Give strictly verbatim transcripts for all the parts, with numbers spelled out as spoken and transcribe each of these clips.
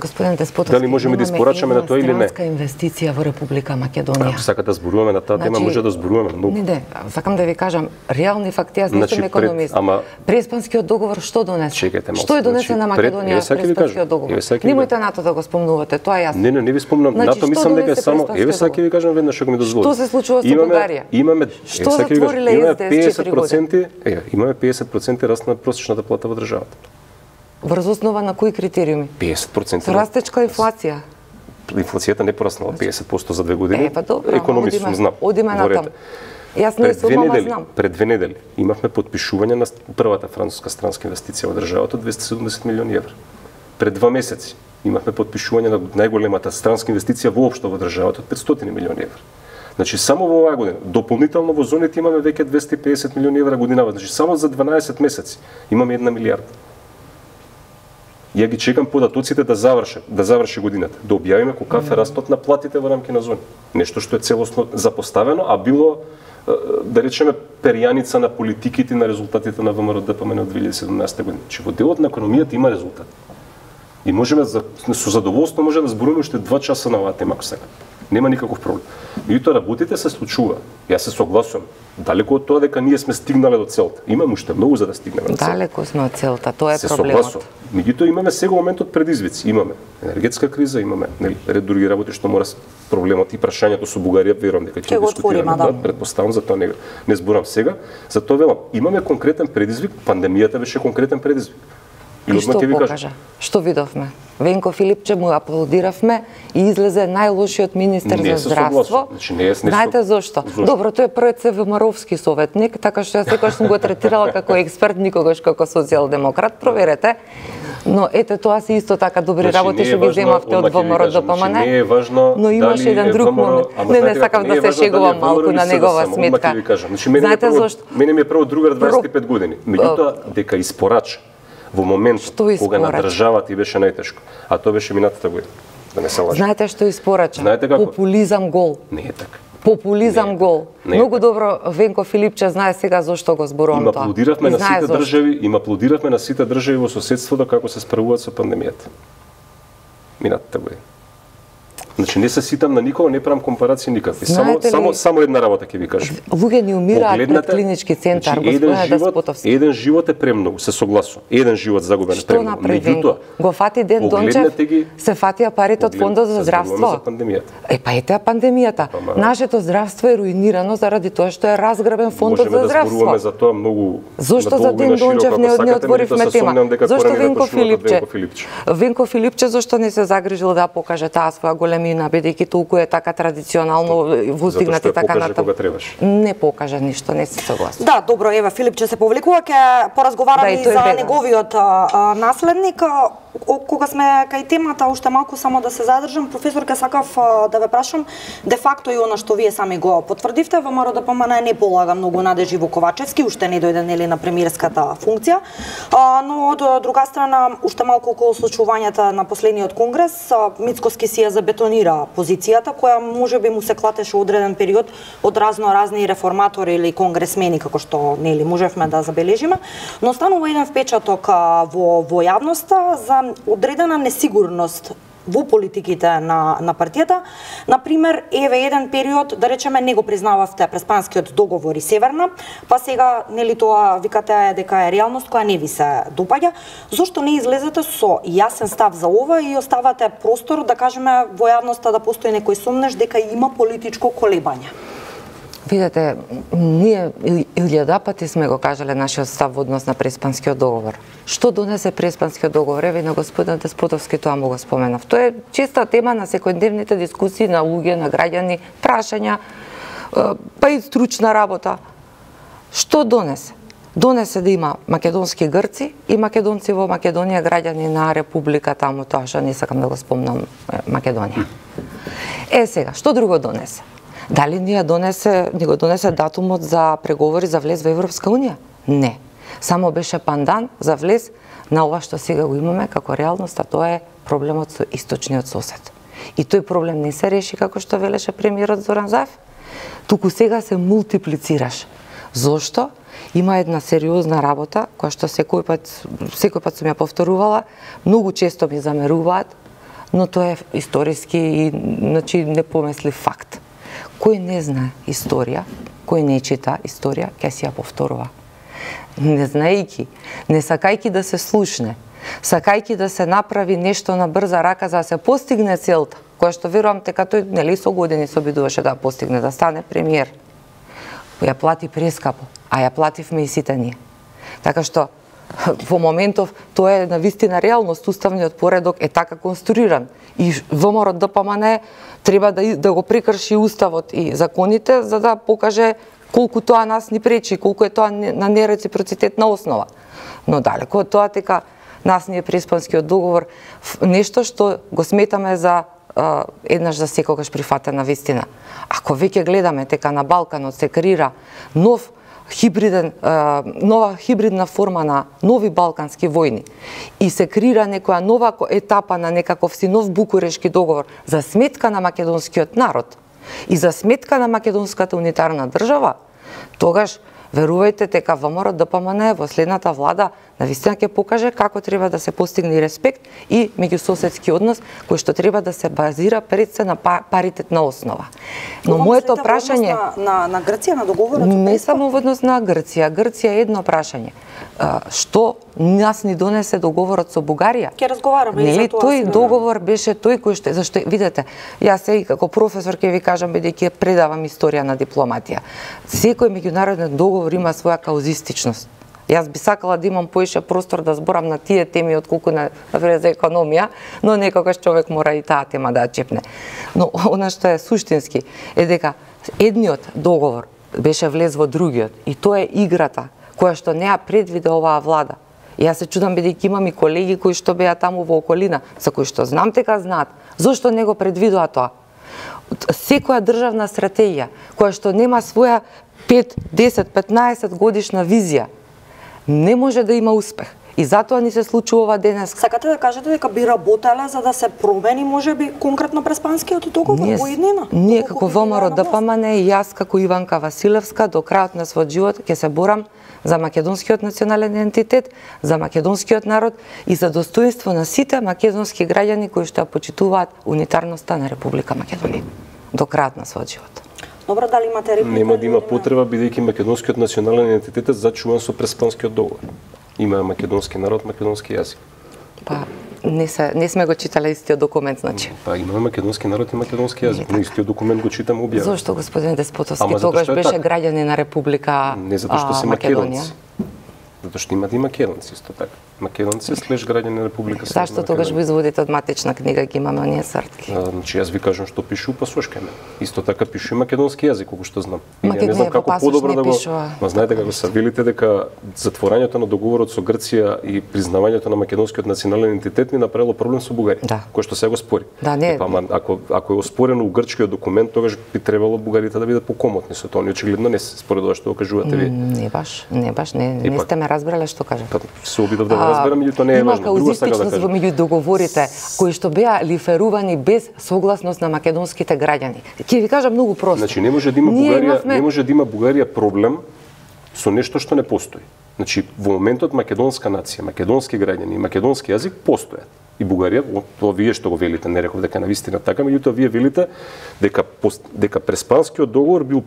Господин Деспотовски, дали можеме да испорачаме на тоа или не? Странска инвестиција во Република Македонија. Ако сакате да зборуваме на таа тема, Значи, може да зборуваме многу. Не, не, сакам да ви кажам реални факти, јас не Значи, сум економист. пред- ама- Преспанскиот договор што донесе? Чекајте малку. Што е донесе Значи, на пред- Македонија еве сака ви Преспанскиот кажам, договор? еве сака ви Немојте НАТО да го спомнувате, тоа е јасно. Не, не, не ви спомнам. Значи, НАТО што мислам дека е донесе само, еве Преспанскиот сака ви кажам веднаш ако ми дозволите. Што се случува со Имаме- Бугарија? Имаме Што еве сака ви кажам, затвориле имаме ес де ес песет четири проценти, еве, имаме песет проценти раст на просечната плата во државата. Врз основа на кои критериуми? песет проценти. Со растечка инфлација. Инфлацијата не пораснала песет проценти за две години. Е, па добро, Економист одиме- сум, знам. одиме Говорете. натаму. Јас не Пред сум, две ама недели, знам. пред две недели имавме подпишување на првата француска странска инвестиција во државата од двесте и седумдесет милиони евра. Пред два месеци имавме подпишување на најголемата странска инвестиција воопшто во државата од петстотини милиони евра. Значи само во оваа година, дополнително во зоните имаме веќе двесте и педесет милиони евра годинава, значи само за дванаесет месеци имаме една милијарда. Ја ги чекам податоците да заврши, да заврши годината, да објавиме колкав е растот на платите во рамки на зони. Нешто што е целосно запоставено, а било е, да речеме перјаница на политиките и на резултатите на ВМРО Д П М Н од две илјади и седумнаесета година. Че во делот на економијата има резултат. И можеме за, со задоволство може да зборуваме уште два часа на оваа тема ако сакате. Нема никаков проблем. Меѓутоа работите се случува. Јас се согласувам. Далеку од тоа дека ние сме стигнале до целта. Имаме уште многу за да стигнеме до целта. Далеко сме од целта, тоа е Се проблемот. согласувам. Меѓутоа имаме сега моментот предизвици. Имаме енергетска криза, имаме нели ред други работи што мора с- проблемот и прашањето со Бугарија, верувам дека ќе Ќе го дискутираме. отвориме, да. Да, претпоставам, затоа не не зборам сега. Затоа велам, имаме конкретен предизвик, пандемијата беше конкретен предизвик. И одмah што ќе ви кажам. покажа? Што видовме? Венко Филипче му аплодиравме и излезе најлошиот министер Не за се здравство. согласувам. Значи, не е с нешто- Знаете зошто? Зошто? Добро, тој е првиот СВМ-ровски советник, така што јас секогаш сум го третирала како експерт, никогаш како социјалдемократ. Проверете. Но ете тоа се исто така добри Значи, работи не е што ги важно, земавте од одмah ќе ви ВМРО кажам, Д П М Н. значи, не е важно но имаше дали еден е друг ВМРО, момент. ама Не, не знаете сакам како, да не е се важно шегувам дали е малку ВМРО на или негова СДСМ, одмah сметка. ќе ви кажам. Значи, мене ми е Знаете прво, зошто? мене ми е прво другар дваесет и пет години. Меѓутоа дека испорача во моментот Што кога на испорача? државата и беше најтешко, а тоа беше минатата година. Да не се лажи. Знаете што испорача? Знаете како? Популизам гол. Не е така. Популизам Не е гол. Не е Многу така. добро Венко Филипче знае сега зошто го зборувам Им тоа. аплодиравме И на знае сите зошто. држави, им аплодиравме на сите држави во соседството како се справуваат со пандемијата. Минатата година. Значи не се ситам на никого, не правам компарации никакви. Само Знаете ли- само само една работа ќе ви кажам. Луѓе ни умираат пред Погледнете, клинички центар, значи, еден господине живот, Деспотовски. еден живот е премногу, се согласувам. Еден живот загубен е Што премногу. направи Венко? Го фати Ден Дончев, погледнете ги- се фатија парите од поглед- фондот за се здравство. зборуваме за пандемијата. Е, па ете пандемијата. Ама- Нашето здравство е руинирано заради тоа што е разграбен фондот Можеме за да здравство. зборуваме за тоа многу Зошто за надолго и Ден на широко, Дончев ако не, не сакате, отворивме меѓутоа се тема? сомневам дека Зошто коренот е Венко почнува од Филипче? Венко Филипче. Венко Филипче зошто не се загрижил да покаже таа своја големина, бидејќи толку е така традиционално воздигнати Затоа што ја така покаже натаму. кога требаше. Не покажа ништо, не се согласувам. Да, добро, ева Филипче се повлекува, ќе поразговараме Да, и и тој за бега. неговиот а, а, наследник. А, о- кога сме кај темата, уште малку само да се задржам, професор, ке сакав а, да ве прашам, де факто и она што вие сами го потврдивте, ВМРО Д П М Н не полага многу надежи во Ковачевски, уште не дојде нели на премиерската функција, а, но од друга страна, уште малку околу случувањата на последниот конгрес, а, Мицкоски си ја забетонира позицијата, која можеби му се клатеше одреден период од разно разни реформатори или конгресмени, како што нели можевме да забележиме, но останува еден впечаток а, во во јавноста за одредена несигурност во политиките на на партијата. Например, еве еден период, да речеме, не го признававте Преспанскиот договор и Северна, па сега нели тоа викате дека е реалност која не ви се допаѓа. Зошто не излезете со јасен став за ова и оставате простор да кажеме во јавноста да постои некој сомнеш дека има политичко колебање? Видете, ние илјада пати сме го кажале нашиот став во однос на Преспанскиот договор. Што донесе Преспанскиот договор? Еве на господин Деспотовски тоа му го споменав. Тоа е честа тема на секојдневните дискусии на луѓе, на граѓани, прашања, е, па и стручна работа. Што донесе? Донесе да има македонски грци и македонци во Македонија, граѓани на Република таму, тоа што не сакам да го спомнам, е, Македонија. Е сега, што друго донесе? Дали ни ја донесе, ни го донесе датумот за преговори за влез во Европска Унија? Не. Само беше пандан за влез на ова што сега го имаме како реалност, а тоа е проблемот со источниот сосед. И тој проблем не се реши како што велеше премиерот Зоран Заев, туку сега се мултиплицираш. Зошто? Има една сериозна работа која што секој пат секој пат сум ја повторувала, многу често ми замеруваат но тоа е историски и значи непомеслив факт. Кој не знае историја, кој не чита историја, ќе си ја повторува. Не знаејќи, не сакајќи да се слушне, сакајќи да се направи нешто на брза рака за да се постигне целта, која што верувам дека тој нели со години се обидуваше да постигне, да стане премиер. Ја плати прескапо, а ја плативме и сите ние. Така што во моментов тоа е на вистина реалност, уставниот поредок е така конструиран и ВМРО ДПМН треба да да го прекрши уставот и законите за да покаже колку тоа нас ни пречи, колку е тоа на нереципроцитетна основа. Но далеко од тоа дека нас ни е Преспанскиот договор нешто што го сметаме за Uh, еднаш за секогаш прифатена вистина. Ако веќе гледаме дека на Балканот се креира нов хибриден, uh, нова хибридна форма на нови балкански војни и се креира некоја нова етапа на некаков си нов Букурешки договор за сметка на македонскиот народ и за сметка на македонската унитарна држава, тогаш верувајте дека ВМРО ДПМН во следната влада навистина ќе покаже како треба да се постигне респект и меѓусоседски однос кој што треба да се базира пред се на паритетна основа. Но моето прашање на, на, на Грција на договорот не само во однос на Грција, Грција е едно прашање. Што нас ни донесе договорот со Бугарија? Ќе разговараме и за тоа. Тој договор беше тој кој што зашто видете, јас сега како професор ќе ви кажам бидејќи предавам историја на дипломатија. Секој меѓународен договор има своја каузистичност. Јас би сакала да имам поише простор да зборам на тие теми отколку на за економија, но некогаш човек мора и таа тема да чепне. Но она што е суштински е дека едниот договор беше влез во другиот и тоа е играта која што не ја предвиде оваа влада. И јас се чудам бидејќи имам и колеги кои што беа таму во околина, за кои што знам дека знаат, зошто не го предвидува тоа? Секоја државна стратегија која што нема своја пет, десет, петнаесет годишна визија не може да има успех. И затоа ни се случува денес. Сакате да кажете дека би работеле за да се промени можеби конкретно Преспанскиот договор во иднина? Ние како ВМРО ДПМН и јас како Иванка Василевска до крајот на својот живот ќе се борам за македонскиот национален идентитет, за македонскиот народ и за достоинство на сите македонски граѓани кои што ја почитуваат унитарноста на Република Македонија до крајот на својот живот. Добро, дали имате реплика? Нема да има потреба бидејќи македонскиот национален идентитет е зачуван со Преспанскиот договор. Има македонски народ, македонски јазик. Па не се не сме го читале истиот документ, значи. Па имаме македонски народ и македонски јазик, но истиот документ го читаме објавен. Зошто господин Деспотовски тогаш беше граѓанин на Република Не затоа што се македонци. Затоа што имат и македонци исто така. Македонци слеш граѓани на Република Северна. Зашто тогаш го изводите од матична книга ги имаме оние сртки? Значи јас ви кажам што пише у пасошкаме. Исто така пише и македонски јазик, колку што знам. И Македонија не знам како подобро да го. Пишува. Ма знаете како се велите дека затворањето на договорот со Грција и признавањето на македонскиот национален идентитет ни направило проблем со Бугарија, да. Кој што се го спори. Да, не. Па ако ако е оспорено у грчкиот документ, тогаш би требало бугарите да бидат покомотни со тоа. Очигледно не се според тоа што го кажувате ви. Не баш, не баш, не, не сте ме разбрале што кажам. Па се обидов да го разберам, меѓутоа не е важно. Има каузистичност во меѓу договорите кои што беа лиферувани без согласност на македонските граѓани. Ќе ви кажам многу просто. Значи не може да има Ние Бугарија, имавме... не може да има Бугарија проблем со нешто што не постои. Значи во моментот македонска нација, македонски граѓани и македонски јазик постојат. И Бугарија, тоа вие што го велите, не реков дека навистина така, меѓутоа вие велите дека дека Преспанскиот договор бил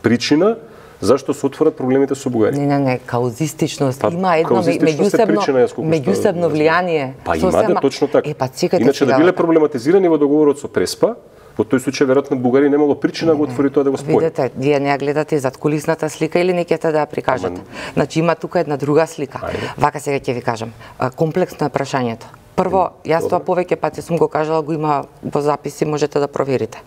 причина зашто се отворат проблемите со Бугарија. Не, не, не, каузистичност. Па, има едно меѓусебно меѓусебно влијание. Па има да, точно така. Е, па, чекайте, иначе да биле проблематизирани во договорот со Преспа, во тој случај веројатно Бугарија немало причина да го отвори тоа да го спори. Видете, вие не ја гледате зад кулисната слика или не ќе да ја прикажете. Ама... Значи има тука една друга слика. Ајде. Вака сега ќе ви кажам. Комплексно е прашањето. Прво, јас тоа повеќе пати сум го кажала, го има во записи, можете да проверите.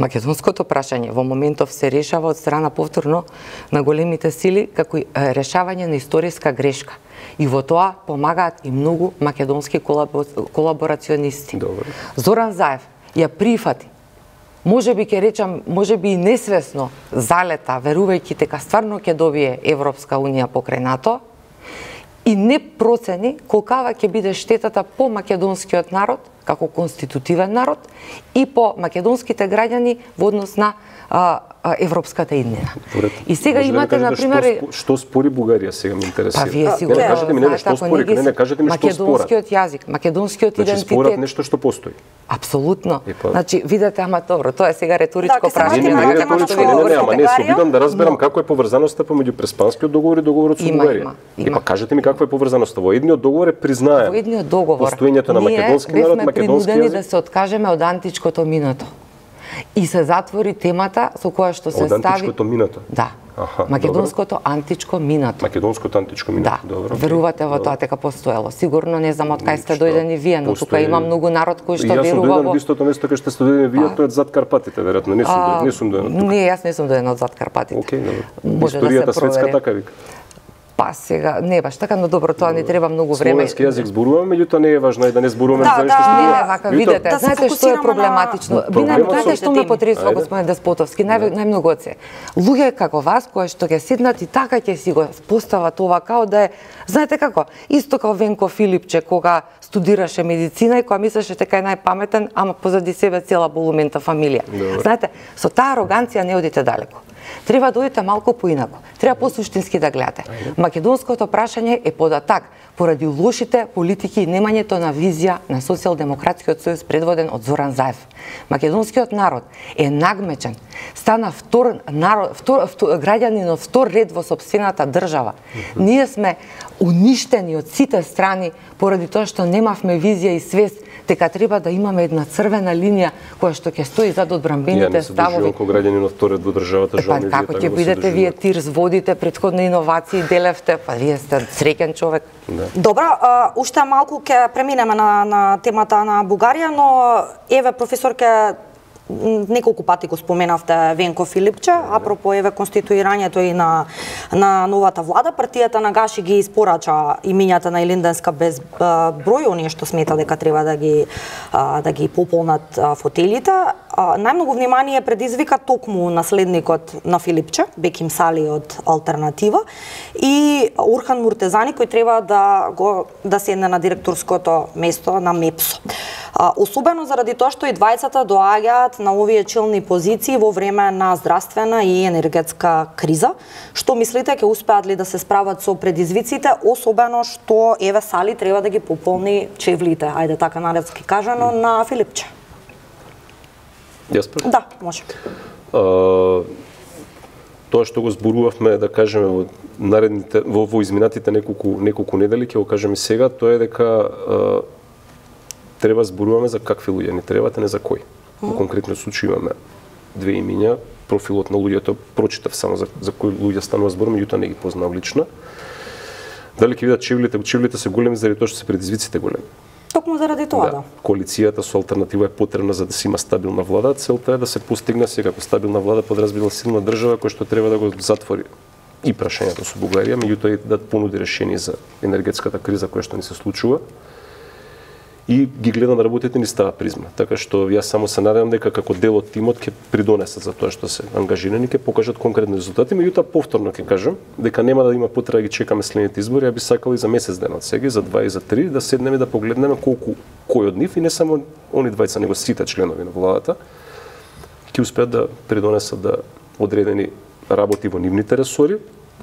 Македонското прашање во моментов се решава од страна повторно на големите сили како решавање на историска грешка. И во тоа помагаат и многу македонски колаборационисти. Добре. Зоран Заев ја прифати. Може би ќе речам, може би и несвесно залета, верувајќи дека стварно ќе добие Европска унија покрај НАТО, и не процени колкава ќе биде штетата по македонскиот народ како конститутивен народ и по македонските граѓани во однос на а, а, европската иднина. И сега може имате да на пример што, што спори Бугарија сега ме интересира. Па вие сигурно не, не кажете ми не што спори, не, не кажете ми што спорат. Македонскиот јазик, македонскиот значи, идентитет. спорат нешто што постои. Апсолутно. Па... Значи видете, ама добро, тоа е сега риторичко да, прашање. Не, не, не, риторичко, не, не, не, ама не, се обидам да разберам како е поврзаноста помеѓу Преспанскиот договор и договорот со Бугарија. И па кажете ми каква е поврзаноста. Во едниот договор е признаем. Во едниот договор постоењето на македонски народ, македонски јазик. да се откажеме од античкото минато. И се затвори темата со која што се од стави... Од античкото минато? Да. Аха, македонското добро. античко минато. Македонското античко минато, да. добро. Верувате во тоа дека постоело. Сигурно не знам од кај сте дојдени вие, но тука има многу народ кој што верува во... Јас сум дојден од истото место кај што сте дојдени вие, тоа е зад Карпатите, веројатно. Не сум дојден, не сум дојден тука. Не, јас не сум дојден од зад Карпатите. Океј, добро. Може историјата да се светска провери. така вика. Па сега, не баш така, но добро, тоа не треба многу време. Словенски јазик зборуваме, меѓутоа не е важно и да не зборуваме да, за нешто да, што... Не, вака, видете, да знаете што е проблематично? На... Би нај, знаете што ме теми. потресува, господин Деспотовски, нај, најмногу од се. Луѓе како вас, кои што ќе седнат и така ќе си го постават ова као да е, знаете како, исто како Венко Филипче, кога студираше медицина и кога мислеше дека е најпаметен, ама позади себе цела болумента фамилија. Добре. Знаете, со таа ароганција не одите далеко. Треба да одите малку поинако. Треба посуштински да гледате. Македонското прашање е податак поради лошите политики и немањето на визија на Социјалдемократскиот сојуз предводен од Зоран Заев. Македонскиот народ е нагмечен, стана втор народ, втор, втор граѓанин од втор ред во сопствената држава. Ние сме уништени од сите страни поради тоа што немавме визија и свест дека треба да имаме една црвена линија која што ќе стои зад одбранбените ставови. Ја не се доживам граѓанин од втор ред во државата, жал ми вие како ќе бидете вие ТИРС водите претходни иновации, делевте, па вие сте среќен човек. Да. Добро, а, уште малку ќе преминеме на, на темата на Бугарија, но еве професор ќе неколку пати го споменавте Венко Филипче, апропо еве конституирањето и на на новата влада, партијата на Гаши ги испорача имињата на Илинденска без број, оние што смета дека треба да ги да ги пополнат фотелите. Најмногу внимание предизвика токму наследникот на Филипче, Беким Сали од Алтернатива и Урхан Муртезани кој треба да го да седне на директорското место на МЕПСО. Особено заради тоа што и двајцата доаѓаат на овие челни позиции во време на здравствена и енергетска криза. Што мислите, ќе успеат ли да се справат со предизвиците, особено што еве Сали треба да ги пополни чевлите, ајде така народски кажано, на Филипче? Јас прв? Да, може. А, тоа што го зборувавме, да кажеме, во наредните во, во изминатите неколку неколку недели, ќе го кажеме сега, тоа е дека а, треба зборуваме за какви луѓе ни требат, а не за кои. Во конкретно случај имаме две имиња, профилот на луѓето прочитав само за, за кои луѓе станува збор, меѓутоа не ги познавам лично. Дали ќе видат чевлите, чевлите се големи заради тоа што се предизвиците големи. Токму заради тоа, да. да. Коалицијата со Алтернатива е потребна за да се има стабилна влада. Целта е да се постигне сега како стабилна влада подразбира силна држава која што треба да го затвори и прашањето со Бугарија, меѓутоа и да понуди решение за енергетската криза која што ни се случува. И ги гледам да работите ни става призма. Така што јас само се надевам дека како дел од тимот ќе придонесат за тоа што се ангажирани, ќе покажат конкретни резултати, меѓутоа повторно ќе кажам дека нема да има потреба да ги чекаме следните избори, ја би сакал и за месец ден од сега, за два и за три, да седнеме да погледнеме колку кој од нив и не само они двајца, него сите членови на владата ќе успеат да придонесат да одредени работи во нивните ресори,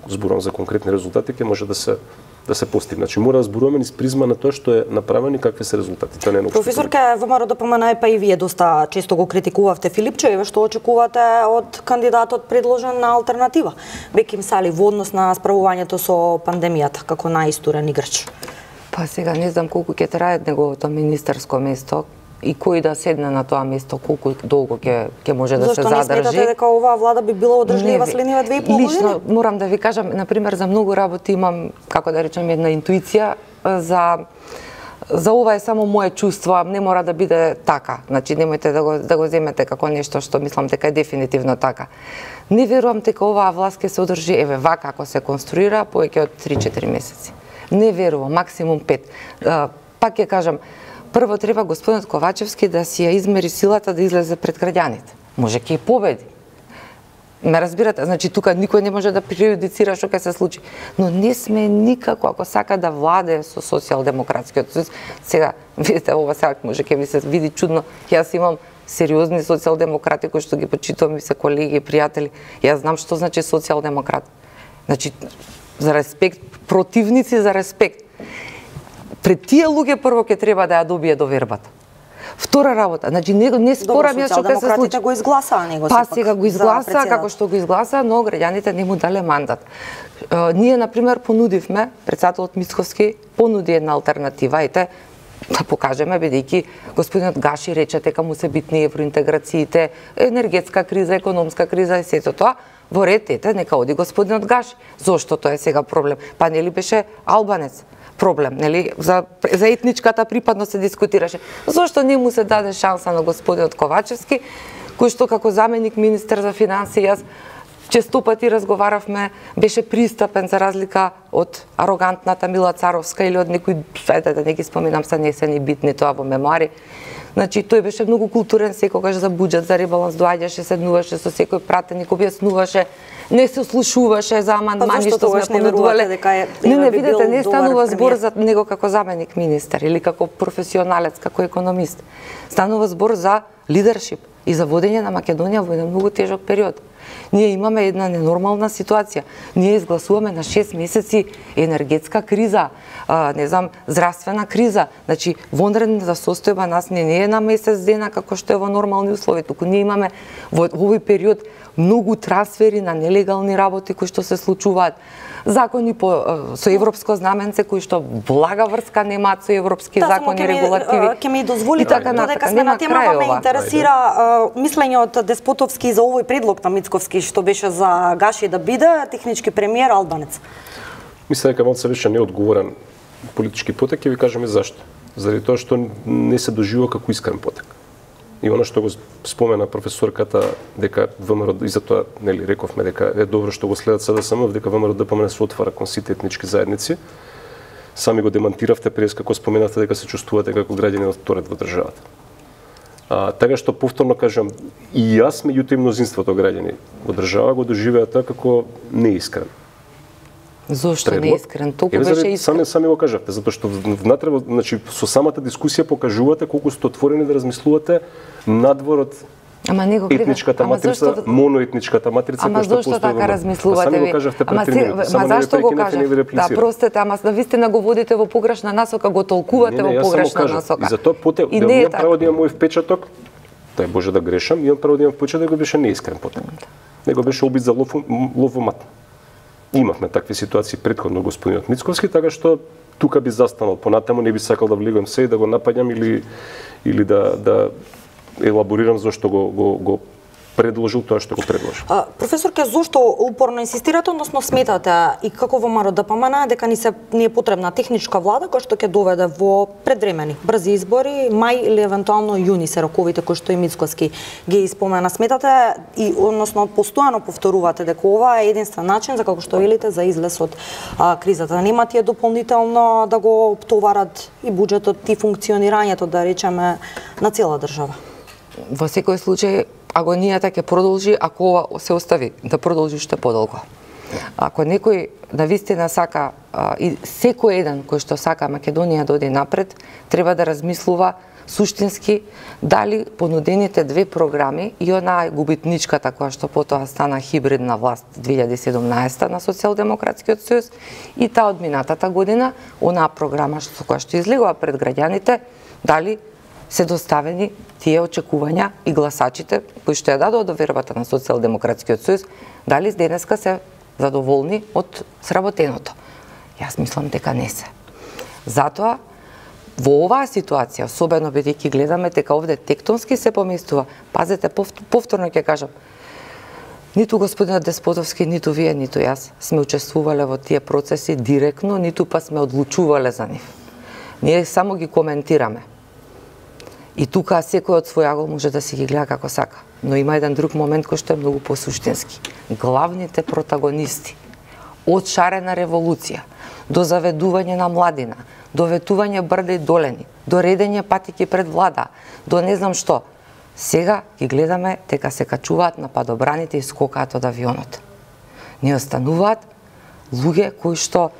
зборувам за конкретни резултати, ќе може да се да се постигне. Значи мора да зборуваме низ призма на тоа што е направено и какви се резултати. Тоа не е професор, ке ВМРО да помена па и вие доста често го критикувавте Филипче, еве што очекувате од кандидатот предложен на Алтернатива, Беким Сали, во однос на справувањето со пандемијата како најистурен играч? Па сега не знам колку ќе трае неговото министерско место и кој да седне на тоа место, колку долго ќе ќе може да Зошто се задржи. Зошто не сметате дека оваа влада би била одржлива следниве две и пол години? Лично морам да ви кажам, на пример за многу работи имам, како да речем, една интуиција за за ова е само мое чувство, не мора да биде така. Значи немојте да го да го земете како нешто што мислам дека е дефинитивно така. Не верувам дека оваа власт ќе се одржи еве вака ако се конструира повеќе од три-четири месеци. Не верувам, максимум пет. Пак ќе кажам, прво треба господинот Ковачевски да си ја измери силата да излезе пред граѓаните. Може ќе и победи. Ме разбирате? Значи тука никој не може да преюдицира што ќе се случи. Но не сме никако, ако сака да владее со социјалдемократскиот сојуз. Сега, видите, ова сега може ќе ми се види чудно. Јас имам сериозни социјалдемократи кои што ги почитувам и се колеги и пријатели. Јас знам што значи социјалдемократ. Значи, за респект, противници за респект. Пред тие луѓе прво ќе треба да ја добие довербата. Втора работа, значи не, не спорам јас што ќе се случи. Го изгласаа него. Па сега го изгласа, како што го изгласа, но граѓаните не му дале мандат. Uh, ние, например, понудивме, председателот Мицковски понуди една алтернатива, ете, да покажеме, бидејќи господинот Гаши рече дека му се битни евроинтеграциите, енергетска криза, економска криза и сето тоа, во ред, ете, нека оди господинот Гаши. Зошто тоа е сега проблем? Па нели беше албанец проблем, нели? За, за етничката припадност се дискутираше. Зошто не му се даде шанса на господинот Ковачевски, кој што како заменик министер за финансии, јас често пати разговаравме, беше пристапен за разлика од арогантната Мила Царовска или од некои, ајде да не ги споминам, са не се ни битни тоа во мемуари. Значи, тој беше многу културен, секогаш за буџет, за ребаланс доаѓаше, седнуваше со секој пратеник, објаснуваше, не се слушуваше за амандмани што сме понудувале. Не, не, видете, не станува збор за него како заменик министер или како професионалец, како економист. Станува збор за лидершип и за водење на Македонија во еден многу тежок период. Ние имаме една ненормална ситуација. Ние изгласуваме на шест месеци енергетска криза, а, не знам, здравствена криза. Значи, вонредната состојба нас не, не е на месец дена како што е во нормални услови, туку ние имаме во овој период многу трансфери на нелегални работи кои што се случуваат. Закони по, со европско знаменце кои што блага врска немаат со европски да, закони, регулативи. Ќе ми дозволите, така додека сме на темава, ме интересира мислењето од Деспотовски за овој предлог на Мицковски што беше за Гаши да биде технички премиер албанец. Мислам дека малце беше неодговорен политички потек и ви кажеме зашто. Заради тоа што не се доживува како искрен потек. И она што го спомена професорката дека ВМРО, и затоа нели рековме дека е добро што го следат СДСМ, дека ВМРО-ДПМН се отвара кон сите етнички заедници. Сами го демантиравте пред како споменавте дека се чувствувате како граѓани од вторет во државата. А, така што повторно кажам, и јас меѓуто и мнозинството граѓани во држава го доживеа тоа како неискрен. Зошто не искрен? Толку беше искрен. Сами, сами го кажавте, затоа што внатре, значи, со самата дискусија покажувате колку сте отворени да размислувате надвор од Ама не го етничката ама матрица, зашто... моноетничката матрица ама која што зошто така размислувате ви? Сами го кажавте пред три минути. Ама зашто го кажавте? Да, простете, ама да вистина го водите во погрешна насока, го толкувате не, не, во погрешна насока. И затоа поте, и да не имам право да имам мој впечаток, тај Боже да грешам, имам право да имам впечаток дека беше неискрен потек. Него беше обид за лов, лов во мат. Имавме такви ситуации претходно господинот Мицковски, така што тука би застанал, понатаму не би сакал да влегувам се и да го напаѓам или или да да елаборирам зошто го го го предложил тоа што го предложил. А, професорке, зошто упорно инсистирате, односно сметате и како ВМРО ДПМН дека ни се ни е потребна техничка влада која што ќе доведе во предвремени брзи избори, мај или евентуално јуни се роковите кои што и Мицковски ги испомена. Сметате и односно постојано повторувате дека ова е единствен начин за како што велите за излез од а, кризата. Нема тие дополнително да го товарат и буџетот и функционирањето, да речеме, на цела држава. Во секој случај агонијата ќе продолжи ако ова се остави да продолжи уште подолго. Ако некој да вистина сака а, и секој еден кој што сака Македонија да оди напред, треба да размислува суштински дали понудените две програми и онаа губитничката која што потоа стана хибридна власт две илјади и седумнаесета на Социјалдемократскиот сојуз и таа од минатата година, онаа програма што која што излегува пред граѓаните, дали се доставени тие очекувања и гласачите кои што ја дадоа довербата на Социјалдемократскиот сојуз, дали денеска се задоволни од сработеното. Јас мислам дека не се. Затоа, во оваа ситуација, особено бидејќи гледаме дека овде тектонски се поместува, пазете, повторно ќе кажам, ниту господинот Деспотовски, ниту вие, ниту јас сме учествувале во тие процеси директно, ниту па сме одлучувале за нив. Ние само ги коментираме. И тука секој од свој агол може да си ги гледа како сака. Но има еден друг момент кој што е многу посуштински. Главните протагонисти од шарена револуција до заведување на младина, до ветување брда и долени, до редење патики пред влада, до не знам што, Сега ги гледаме дека се качуваат на падобраните и скокаат од авионот. Не остануваат луѓе кои што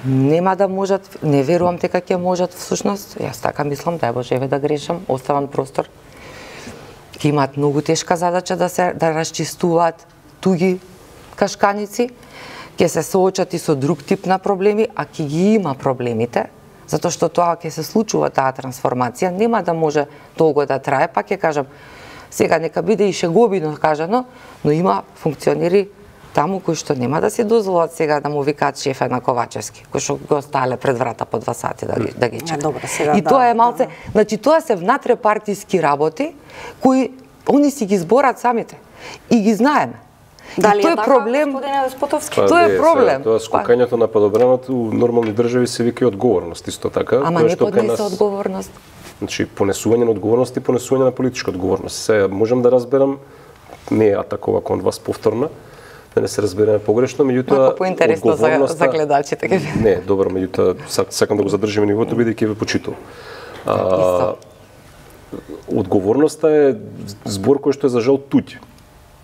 нема да можат, не верувам дека ќе можат всушност, јас така мислам, дај Боже еве да грешам, оставам простор. Ќе имаат многу тешка задача да се да расчистуваат туги кашканици, ќе се соочат и со друг тип на проблеми, а ќе ги има проблемите, затоа што тоа ќе се случува таа трансформација, нема да може долго да трае, па ќе кажам, сега нека биде и шеговино кажано, но има функционери таму кои што нема да си дозволат сега да му викаат шефа на Ковачевски, кои што го остале пред врата по два сати да ги да ги чекаат. Добро, сега и да, тоа е малце, да. значи тоа се внатре-партиски работи кои они си ги зборат самите и ги знаеме. Дали и тоа е е така, проблем, господине Деспотовски? Па, тоа е не, проблем. Сега, тоа скокањето на падобраното у нормални држави се вика одговорност, исто така. Ама не поднесе нас... одговорност. Значи, понесување на одговорност и понесување на политичка одговорност. Сега, можам да разберам, не е атакова кон вас повторна, да не се разбереме погрешно, меѓутоа Малку поинтересно за, за гледачите. Не, добро, меѓутоа сакам да го задржиме нивото бидејќи ве почитувам. А, одговорноста е збор кој што е за жал туѓ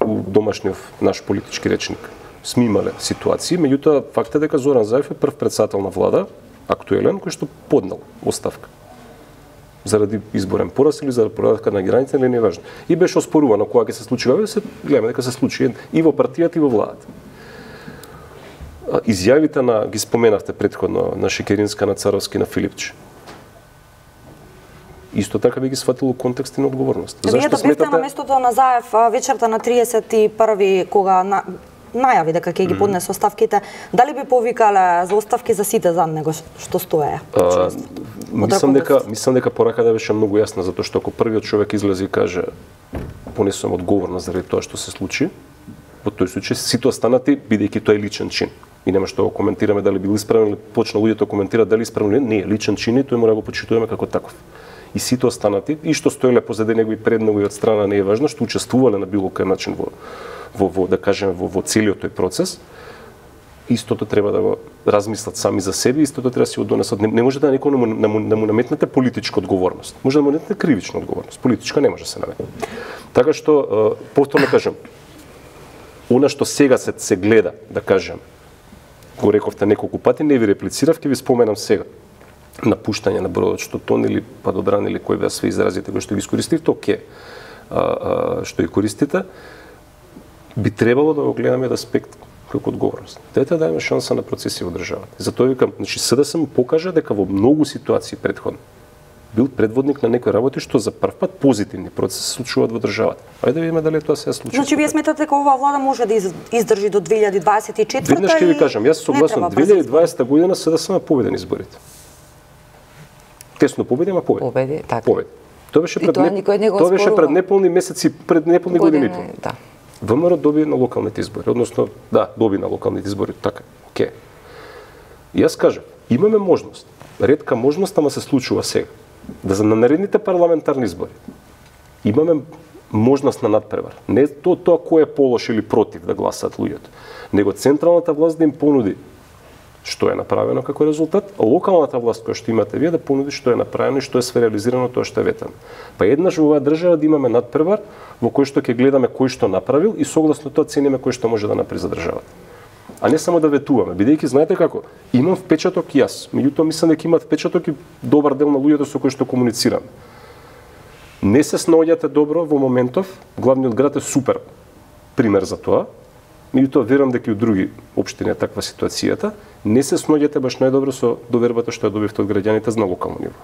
у домашниот наш политички речник. Сме имале ситуации, меѓутоа факт е дека Зоран Заев е прв председател на влада, актуелен, кој што поднел оставка. Заради изборен пораз или заради порадка на граница, или не е важно. И беше оспорувано кога ќе се случи, ве се гледаме дека се случи и во партијата и во владата. Изјавите на ги споменавте претходно на Шекеринска, на Царовски, на Филипче. Исто така би ги сватило контекст и на одговорност. Вие да бевте сметате... на местото на Заев вечерта на триесет и први кога на... најави дека ќе ги поднесе оставките, дали би повикале за оставки за сите зад него што стоеа? Мислам дека мислам дека пораката беше многу јасна, затоа што ако првиот човек излезе и каже понесувам одговорност заради тоа што се случи, во тој случај сите останати бидејќи тоа е личен чин. И нема што го коментираме дали бил исправен или почна луѓето коментираат дали исправен или не, е личен чин и тој мора да го почитуваме како таков. И сите останати, и што стоеле позади него и пред него и од страна не е важно, што учествувале на било кој начин во во, во да кажеме во, во целиот тој процес, истото треба да го размислат сами за себе, истото треба да си го донесат. Не, не може да некој да му, да, му, да му наметнете политичка одговорност. Може да му наметнете кривична одговорност. Политичка не може да се наметне. Така што повторно кажам, она што сега се се гледа, да кажем, го рековте неколку пати, не ви реплицирав, ќе ви споменам сега. Напуштање на бродот, што тон или падобран или кој беа све изразите кои што ги искористивте, оке, а, а, што ги користите, би требало да го гледаме од аспект како одговорност. Дете да има шанса на процеси во државата. Затоа викам, значи СДСМ покажа дека во многу ситуации претходно бил предводник на некои работи што за прв пат позитивни процеси се случуваат во државата. Ајде да видиме дали тоа се случи. Значи вие сметате дека оваа влада може да издржи до две илјади дваесет и четврта? Веднаш ќе ви кажам, јас согласен, две илјади и дваесета година СДСМ победи на изборите. Тесно победи, ама победи. Победи, така. Победи. Тоа беше пред тоа, не... не тоа беше пред неполни месеци, пред неполни години. години. Да. ВМРО доби на локалните избори, односно, да, доби на локалните избори, така, оке. И јас кажам, имаме можност, ретка можност, ама се случува сега, да за на наредните парламентарни избори имаме можност на надпревар. Не тоа тоа кој е полош или против да гласаат луѓето, него централната власт да им понуди што е направено како резултат, а локалната власт која што имате вие да понуди што е направено и што е све реализирано тоа што е ветано. Па еднаш во оваа држава да имаме надпревар во кој што ќе гледаме кој што направил и согласно тоа цениме кој што може да направи за државата. А не само да ветуваме, бидејќи знаете како, имам впечаток и јас, меѓутоа мислам дека имаат впечаток и добар дел на луѓето со кои што комуницирам. Не се снаоѓате добро во моментов, главниот град е супер пример за тоа. Меѓутоа верувам дека и у други општини е таква ситуацијата, не се снаоѓате баш најдобро со довербата што ја добивте од граѓаните на локално ниво.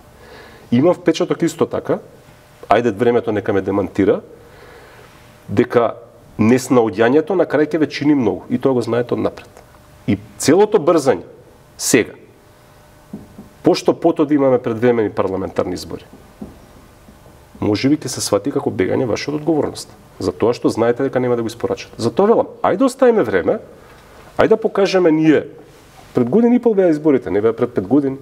Имам впечаток исто така, ајде времето нека ме демантира, дека неснаоѓањето на крај ќе ве чини многу и тоа го знаете од напред. И целото брзање сега, пошто пото да имаме предвремени парламентарни избори, може би ќе се свати како бегање ваша од одговорност. За тоа што знаете дека нема да го испорачате. Затоа велам, ајде оставиме време, ајде да покажеме ние пред година и пол беа изборите, не беа пред пет години.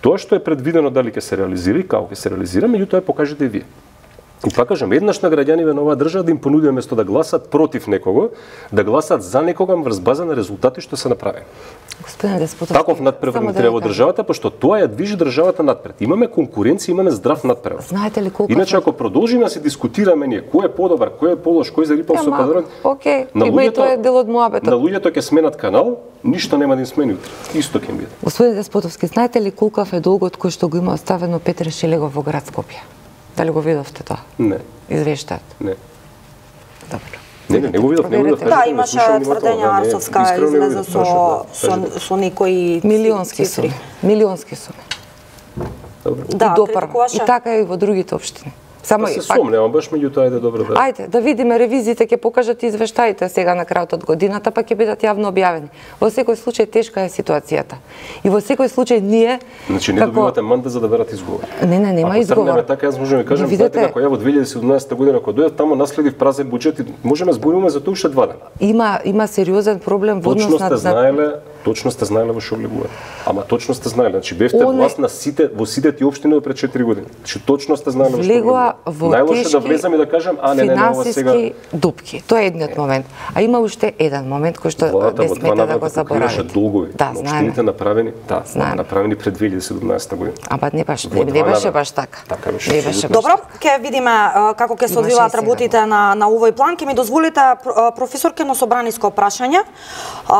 Тоа што е предвидено дали ќе се реализира и како ќе се реализира, меѓутоа покажете и вие. И пак кажам, еднаш на граѓаниве на оваа држава да им понудиме место да гласат против некого, да гласат за некога врз база на резултати што се направени. Господин Деспотовски, таков надпревар треба во државата, пошто тоа ја движи државата напред. Имаме конкуренција, имаме здрав надпревар. Знаете ли колку Иначе ако продолжиме да се дискутираме ние кој е подобар, кој е полош, кој зарипал со пазарот, окей, има и тоа е дел од моабетот. На луѓето ќе сменат канал, ништо нема да им смени утре. Исто ќе им биде. Господин Деспотовски, знаете ли колкав е долгот кој што го има оставено Петре Шелегов во град Скопје? Дали го видовте тоа? Не. Извештајот? Не. Добро. Не, не, не го видов, не го видов. Да, имаше тврдења Арсовска излезе со со со некои милионски суми. Милионски суми. Добро. Да, и така и во другите општини. Само се сомневам, баш меѓутоа ајде добро да. Ајде, да видиме ревизиите, ќе покажат извештаите сега на крајот од годината, па ќе бидат јавно објавени. Во секој случај тешка е ситуацијата. И во секој случај ние Значи не како... добивате мандат за да берате изговор. Не, не, нема Ако изговор. Ако така, јас можам да кажам, видите како ја во две илјади и седумнаесета година кога дојдов таму наследив празен буџет и можеме зборуваме за тоа уште два дена. Има има сериозен проблем во однос на Точно сте знаеле, точно сте знаеле во што влегувате. Ама точно сте знаеле, значи бевте Оне... власт на сите во сите тие општини до пред четири години. Значи точно сте знаеле во што влегувате. Најлошо да влезам и да кажам, а не, не, не, ова сега... финансиски дупки. Тоа е едниот момент. А има уште еден момент кој што Владата не смета да го заборавите. Долгови, да, но општините направени, да, знаем. направени пред две илјади и седумнаесета година. Ама не баш, не, не беше баш така. Така беше. Не беше Добро, ќе видиме како ќе се одвиваат работите на на овој план. Ќе ми дозволите професорке на собраниско прашање.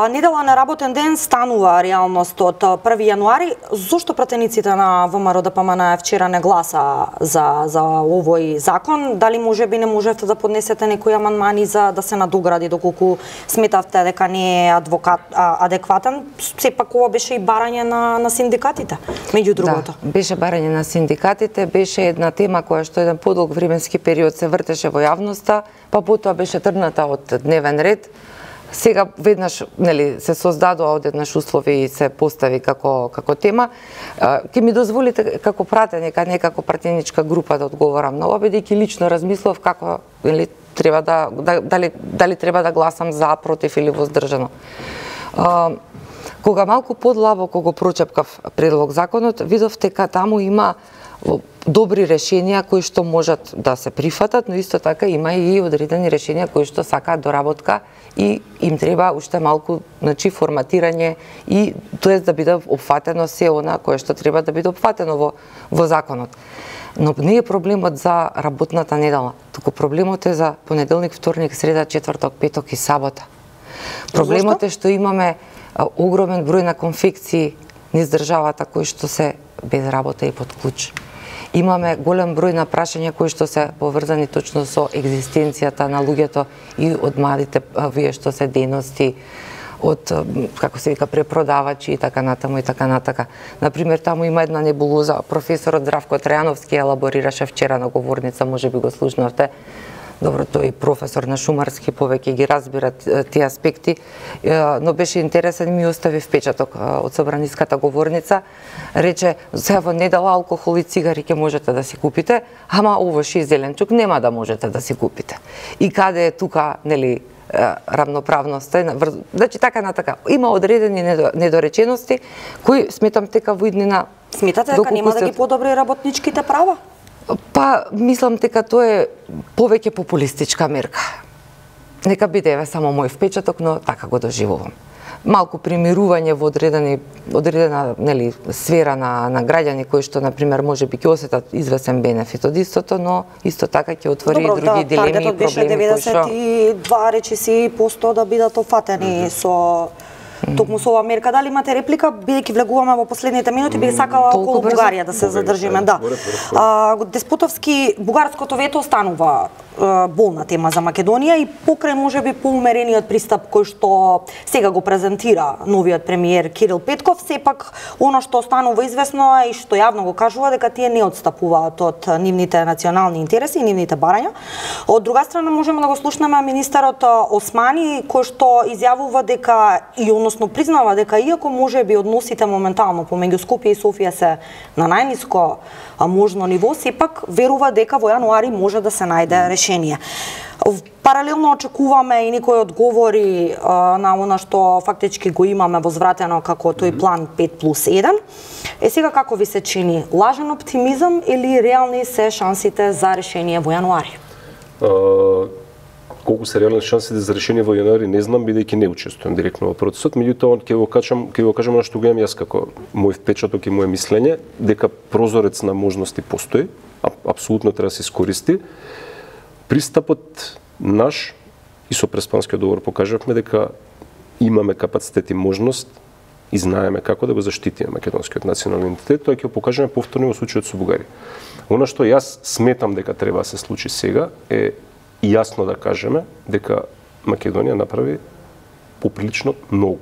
Недела неработен ден станува реалност од први јануари. Зошто пратениците на ВМРО Д П М Н вчера не гласа за за овој закон? Дали можеби не можевте да поднесете некои амандмани за да се надогради доколку сметавте дека не е адвокат а, адекватен? Сепак ова беше и барање на на синдикатите, меѓу другото. Да, беше барање на синдикатите, беше една тема која што еден подолг временски период се вртеше во јавноста, па потоа беше тргната од дневен ред. Сега веднаш, нели, се создадоа одеднаш услови и се постави како како тема. Ќе ми дозволите како пратеник, а не како пратеничка група да одговорам на ова, бидејќи лично размислов како, нели, треба да, да дали дали треба да гласам за, против или воздржано. А, кога малку подлабоко го прочепкав предлог законот, видов дека таму има добри решенија кои што можат да се прифатат, но исто така има и одредени решенија кои што сакаат доработка и им треба уште малку, значи, форматирање и тоа да биде опфатено се она кое што треба да биде опфатено во во законот. Но не е проблемот за работната недела, туку проблемот е за понеделник, вторник, среда, четврток, петок и сабота. Проблемот е што имаме огромен број на конфекции низ државата кои што се без работа и под клуч. Имаме голем број на прашања кои што се поврзани точно со екзистенцијата на луѓето и од младите вие што се дејности, од, како се вика, препродавачи и така натаму и така натака. Например, таму има една небулоза, професорот Здравко Трајановски елаборираше вчера на говорница, можеби го слушнавте. Добро, тој е професор на шумарски, повеќе ги разбира тие аспекти, но беше интересен и ми остави впечаток од собраниската говорница. Рече, сега во недела алкохол и цигари ќе можете да си купите, ама овош и зеленчук нема да можете да си купите. И каде е тука, нели, равноправноста? Значи, така на така. Има одредени недоречености, кои сметам дека во иднина... Сметате дека нема да ги подобри работничките права? Па, мислам дека тоа е повеќе популистичка мерка. Нека биде еве само мој впечаток, но така го доживувам. Малку примирување во одредени, одредена, нели, сфера на, на граѓани кои што, например, можеби ќе осетат извесен бенефит од истото, но исто така ќе отвори Добро, и други да, дилеми и проблеми кои што... деветдесет и два речиси посто да бидат офатени mm -hmm. со токму со оваа мерка. Дали имате реплика, бидејќи влегуваме во последните минути, би сакала околу Бугарија да се задржиме, да. А, Деспотовски, бугарското вето останува болна тема за Македонија и покрај можеби поумерениот пристап кој што сега го презентира новиот премиер Кирил Петков, сепак она што останува известно е и што јавно го кажува дека тие не отстапуваат од нивните национални интереси и нивните барања. Од друга страна можеме да го слушнеме министерот Османи кој што изјавува дека и оно односно признава дека иако може би односите моментално помеѓу Скопје и Софија се на најниско можно ниво, сепак верува дека во јануари може да се најде решение. Паралелно очекуваме и некои одговори а, на она што фактички го имаме возвратено како тој план пет плюс еден. Е сега како ви се чини? Лажен оптимизам или реални се шансите за решение во јануари? Uh, колку се реални шансите за решение во јануари не знам, бидејќи не учествувам директно во процесот, меѓутоа ќе го кажам, ќе го кажам што го имам јас како мој впечаток и мое мислење, дека прозорец на можности постои, апсолутно треба да се искористи. Пристапот наш и со Преспанскиот договор покажавме дека имаме капацитет и можност и знаеме како да го заштитиме македонскиот национален идентитет, тоа ќе го покажеме повторно во случајот со Бугарија. Она што јас сметам дека треба да се случи сега е јасно да кажеме дека Македонија направи поприлично многу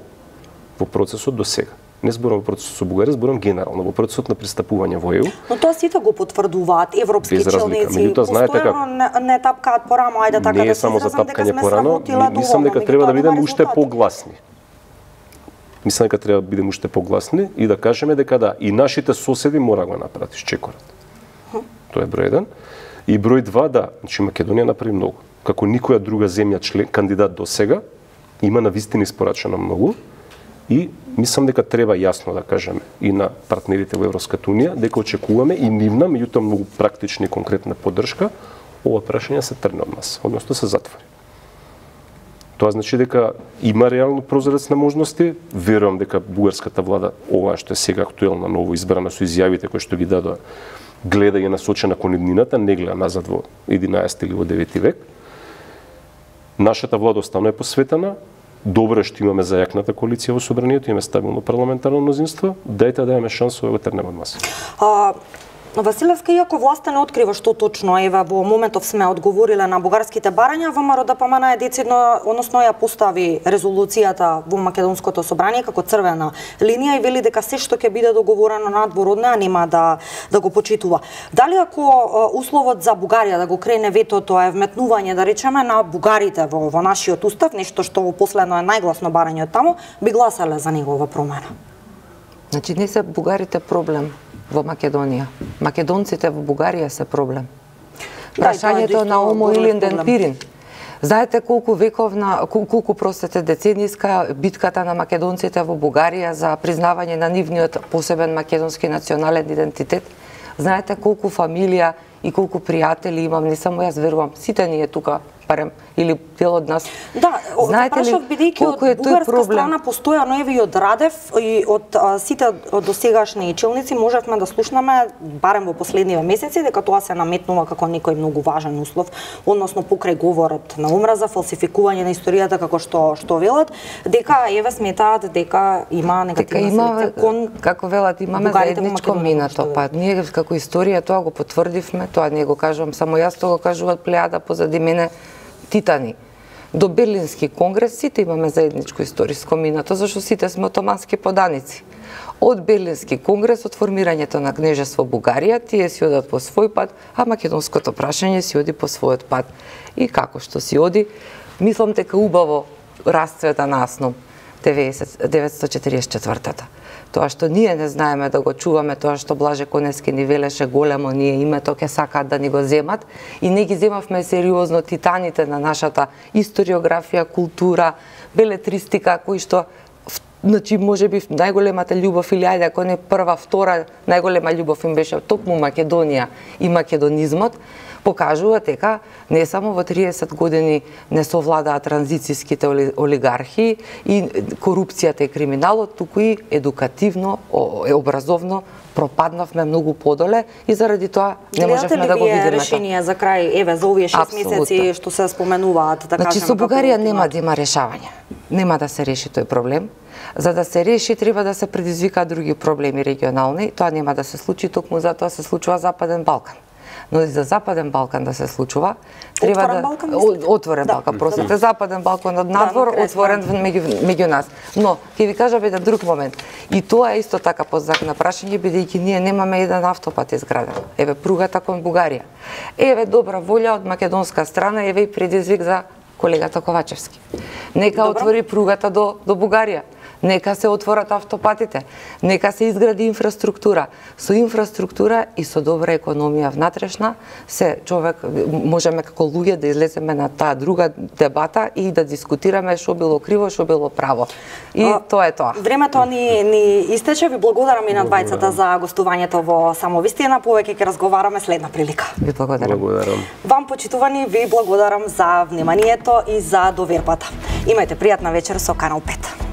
во процесот до сега. Не зборам во процесот со Бугарија, зборам генерално во процесот на пристапување во Е У. Но тоа сите го потврдуваат европски челници. Меѓутоа знаете како не, не тапкаат порано, ајде така не да е само за тапкање порано, мислам дека доволно, треба да бидеме нема уште резултати. погласни. Мислам дека треба да бидеме уште погласни и да кажеме дека да, и нашите соседи мора да го направат изчекорат. Тоа е број еден. И број два, да, значи Македонија направи многу. Како никоја друга земја член кандидат до сега, има навистина испорачено многу и мислам дека треба јасно да кажеме и на партнерите во Европската унија дека очекуваме и нивна, меѓутоа многу практична и конкретна поддршка, ова прашање се тргне од нас, односно се затвори. Тоа значи дека има реално прозорец на можности, верувам дека бугарската влада, ова што е сега актуелна ново избрана со изјавите кои што ги дадоа, гледа и е насочена кон иднината, не гледа назад во единаесети или во девети век. Нашата влада останува посветена. Добро е што имаме зајакната коалиција во собранието, имаме стабилно парламентарно мнозинство. Дајте да имаме шансове да го трнеме од маса. А, Василевска, иако власта не открива што точно, еве во моментов сме одговориле на бугарските барања, ВМРО да помена е децидно, односно ја постави резолуцијата во македонското собрание како црвена линија и вели дека се што ќе биде договорено надвор од неа нема да да го почитува. Дали ако условот за Бугарија да го крене ветото е вметнување, да речеме, на бугарите во, во нашиот устав, нешто што во последно е најгласно барање од таму, би гласале за негова промена? Значи не се бугарите проблем во Македонија. Македонците во Бугарија се проблем. Прашањето на Омо Илинден Пирин. Знаете колку вековна, колку простете децениска битката на македонците во Бугарија за признавање на нивниот посебен македонски национален идентитет? Знаете колку фамилија и колку пријатели имам, не само јас, верувам, сите ние тука, барем, или дел од нас. Да, знаете ли бидејќи од бугарска страна постојано еве и од Радев и од а, сите од досегашни челници можевме да слушнаме барем во последниве месеци дека тоа се наметнува како некој многу важен услов, односно покрај говорот на омраза, фалсификување на историјата како што што велат, дека еве сметаат дека има негативна селекција кон, како велат, имаме заедничко минато, па ние како историја тоа го потврдивме, тоа не го кажувам само јас, тоа го кажуваат плејада позади мене титани. До Берлински конгрес сите имаме заедничко историско минато, зашто сите сме отомански поданици. Од Берлински конгрес, од формирањето на кнежество Бугарија, тие си одат по свој пат, а македонското прашање си оди по својот пат. И како што си оди, мислам дека убаво расцвета насно деветстотини четиридесет и четвртата. Тоа што ние не знаеме да го чуваме, тоа што Блаже Коневски ни велеше големо, ние името ќе сакаат да ни го земат и не ги земавме сериозно титаните на нашата историографија, култура, белетристика, кои што значи можеби најголемата љубов или ајде ако не прва, втора најголема љубов им беше токму Македонија и македонизмот, покажува дека не само во триесет години не совладаа транзицијските олигархи и корупцијата и криминалот, туку и едукативно, образовно пропаднавме многу подоле и заради тоа не можевме да го видиме. Гледате ли вие решение за крај, еве, за овие шест месеци што се споменуваат, да кажеме? Значи со Бугарија нема да има решавање. Нема да се реши тој проблем. За да се реши, треба да се предизвикаат други проблеми регионални. Тоа нема да се случи, токму затоа се случува Западен Балкан. Но и за Западен Балкан да се случува, треба отворен да Балкан, отворен да. Балкан, простите, Западен Балкан од надвор, да, отворен меѓу, меѓу нас. Но ќе ви кажам еден друг момент. И тоа е исто така под знак на прашање, бидејќи ние немаме еден автопат изграден. Еве пругата кон Бугарија. Еве добра волја од македонска страна, еве и предизвик за колегата Ковачевски. Нека Добро. Отвори пругата до до Бугарија. Нека се отворат автопатите, нека се изгради инфраструктура. Со инфраструктура и со добра економија внатрешна, се човек можеме како луѓе да излеземе на таа друга дебата и да дискутираме што било криво, што било право. И а, тоа е тоа. Времето ни ни истече. Ви благодарам и на двајцата за гостувањето во Самовистина. Повеќе ќе разговараме следна прилика. Ви благодарам. Благодарам. Вам, почитувани, ви благодарам за вниманието и за довербата. Имајте пријатна вечер со Канал пет.